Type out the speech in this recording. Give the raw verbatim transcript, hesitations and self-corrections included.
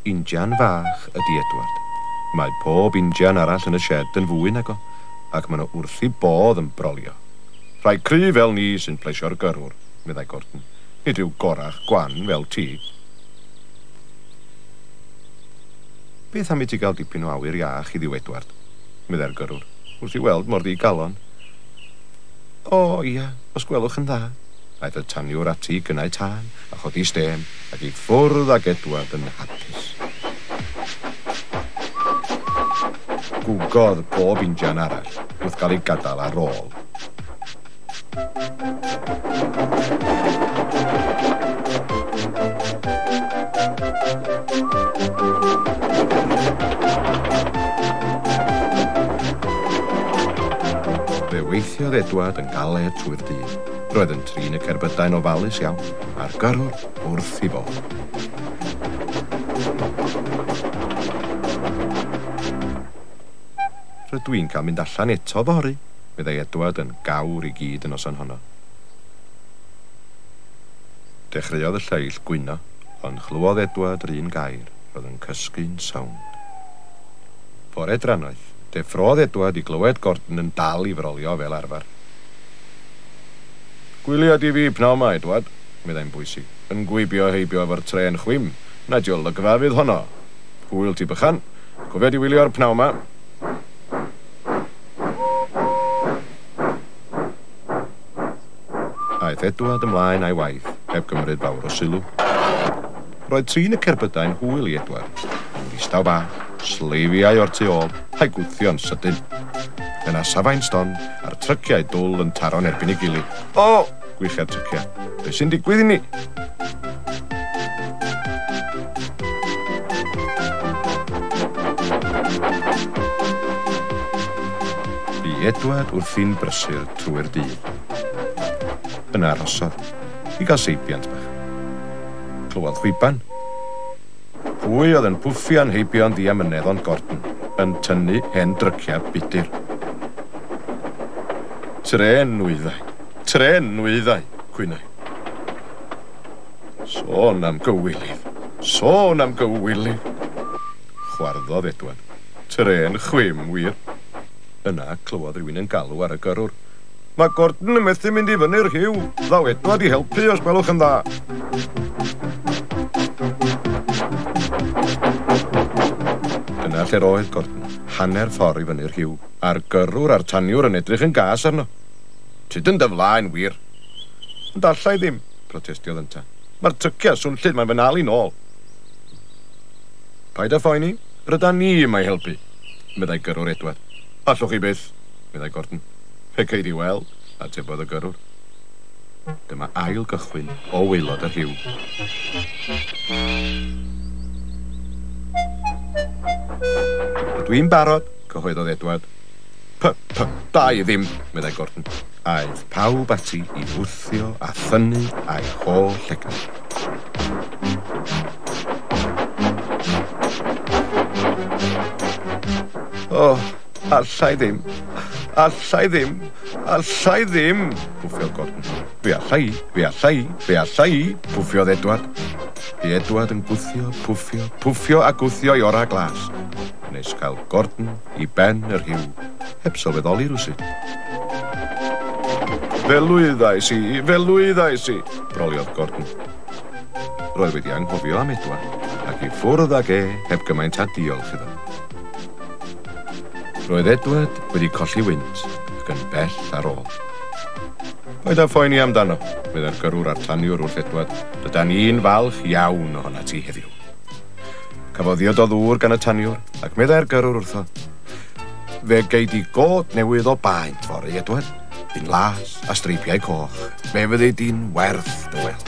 Injan fach ydy Edward. Mae pob injan arall yn y shed yn fwy nag o, ac maen nhw wrth eu bodd yn brolio. Rhai cry fel ni sy'n plesio'r gyrrwr, meddai Gordon. Nid yw gorach gwan fel ti. Beth am i ti gael dipyn o awyr iach i ddiw, Edward, meddai'r gyrrwr, wrth i weld mor ddigalon. O, ia, os gwelwch yn dda. Aeth y taniwr ati i gynnau tân a chodi stêm ac i ffwrdd ag Edward yn hapus. Gwgodd pob injan arall wrth gael ei gadael ar ôl. Fe weithiodd Edward yn galed trwy'r dydd. Roedd yn trin y cerbydau'n ofalus iawn, a'r gyrrwr wrth ei fodd. Rydw i'n cael mynd allan eto fory, meddai Edward yn gawr i gyd y noson honno. Dechreuodd y lleill gwyno, ond chlywodd Edward yr un gair, roedd yn cysgu'n sownd. Bore drannoeth, deffrodd Edward i glywed Gordon yn dal i frolio fel arfer. Gwylia di fi pnawn 'ma, Edward, meddai'n bwysig, yn gwibio heibio efo'r trên chwim. Na di olygfa fydd honno. Hwyl ti bychan, cofia di wylio'r pnawn 'ma. Aeth Edward ymlaen a'i waith, heb gymryd fawr o sylw. Roedd trin y cerbydau'n hwyl i Edward. Yn ddistaw bach, sleifiau o'r tu ôl, a'i gwthio'n sydyn. Yna safai'n stond, a'r tryciau dwl yn taro'n erbyn ei gilydd. O! Gwichia'r tryciau. Be sy'n digwydd i ni? Bu Edward wrthi'n brysur trwy'r dydd. Yna arhosodd, i gael seibiant bach. Clywodd chwiban. Pwy oedd yn pwffian heibio'n ddiamynedd ond Gordon, yn tynnu hen dryciau budur. Trên nwyddau, trên nwyddau, cwynai. Sôn am gywilydd, sôn am gywilydd. Chwarddodd Edward. Trên chwim, wir. Yna clywodd rhywun yn galw ar y gyrrwr. Mae Gordon yn methu mynd i fyny'r rhiw. Ddaw Edward i helpu os gwelwch yn dda. Dyna lle'r oedd Gordon, hanner ffordd i fyny'r rhiw, a'r gyrrwr a'r taniwr yn edrych yn gas arno. Tyd yn dy flaen, wir. Ond alla i ddim, protestiodd ynta. Mae'r tryciau swnllyd, mae'n fy nal i nôl. Paid â phoeni, rydan ni yma i helpu, meddai gyrrwr Edward. Allwch chi byth, meddai Gordon. Fe cei di weld, atebodd y gyrrwr. Dyma ail gychwyn o waelod y rhiw. Rydw i'n barod, cyhoeddodd Edward. P, p, da i ddim, meddai Gordon. Aeth pawb ati i wthio a thynnu a'i holl egni. O, allai ddim, allai ddim, allai ddim, pwffiodd Gordon. Fe allai, fe allai, fe allai, pwffiodd Edward. Bu Edward yn gwthio, pwffio, pwffio a gwthio i ora glas, nes cael Gordon i ben y rhiw, heb sylweddoli rywsut. Fe lwyddais i, fe lwyddais i, broliodd Gordon. Roedd wedi anghofio am Edward, ac i ffwrdd ag e heb gymaint a diolch iddo. Roedd Edward wedi colli wynt ac yn bell ar ôl. Paid â phoeni amdano, meddai'r gyrrwr a'r taniwr wrth Edward. Rydan ni'n falch iawn ohona ti heddiw. Cafodd ddiod o ddŵr gan y taniwr, ac meddai'r gyrrwr wrtho. Fe gei di god newydd o baent fory, Edward. Un las a streipiau coch. Fe fyddi di'n werth dy weld.